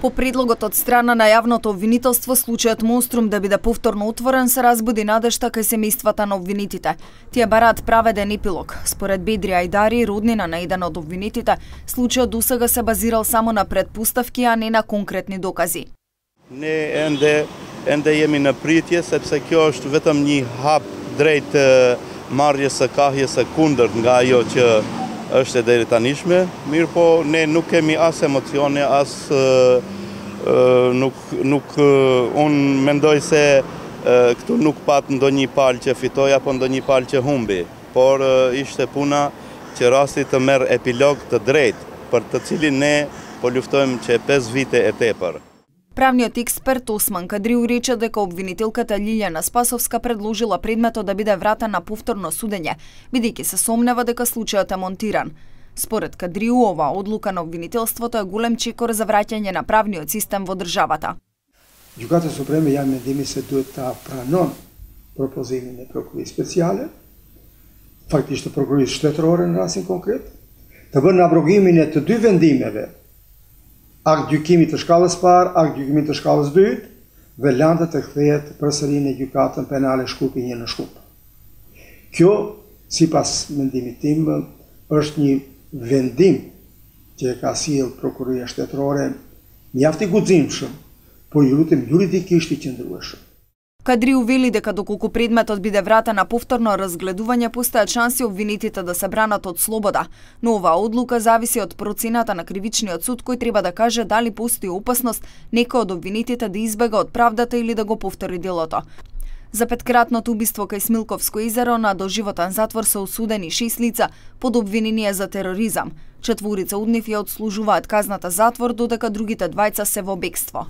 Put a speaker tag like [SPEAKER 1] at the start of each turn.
[SPEAKER 1] По предлогот од страна на јавното обвинителство, случајот Монструм да биде повторно отворен се разбуди надежта кај семејствата на обвинетите. Тие бараат праведен епилог. Според Бедри Ајдари, роднина на еден од обвинетите, случајот досега се базирал само на предпоставки, а не на конкретни докази.
[SPEAKER 2] Не енде jemi në pritje sepse kjo është vetëm një hap drejt marrjes së kahjes së kundërt nga ajo që është e deri tanishme, mirë po ne nuk kemi as emocione, as unë mendoj se këtu nuk pat ndonjë palë që fitoi apo ndonjë palë që humbi, por ishte puna që rasti të merr epilog të drejtë, për të cilin ne po luftojmë që 5 vite e tepër.
[SPEAKER 1] Правниот експерт Осман Кадриу рече дека обвинителката Лилјана Спасовска предложила предметот да биде вратен на повторно судење, бидејќи се сомнева дека случајот е монтиран. Според Кадриу, ова одлука на обвинителството е голем чекор за враќање на правниот систем во државата.
[SPEAKER 3] Gjykata Supreme janë mendimi se duhet ta pranon propozimin e prokurorit speciale, faktikisht të prokurorit shtetërore në rastin konkret, të bënë abrogimin e të dy vendimeve, akt gjykimit të shkallës parë, akt gjykimit të shkallës dytë, veçantë të kthehet përsëri në gjykatën penale Shkupi 1 në Shkup. Kjo, sipas mendimit tim, është një vendim që e ka sjellë prokuroria shtetërore mjaft i guximshëm, por ju lutem juridikisht i qëndrueshëm.
[SPEAKER 1] Кадриу вели дека доколку предметот биде вратен на повторно разгледување, постојат шанси обвинетите да се бранат од слобода, но оваа одлука зависи од процената на кривичниот суд кој треба да каже дали постои опасност некој од обвинетите да избега од правдата или да го повтори делото. За петкратното убиство кај Смилковско езеро на доживотен затвор се осудени 6 лица под обвинение за тероризам. 4 од нив ја одслужуваат казната затвор, додека другите 2 се во бегство.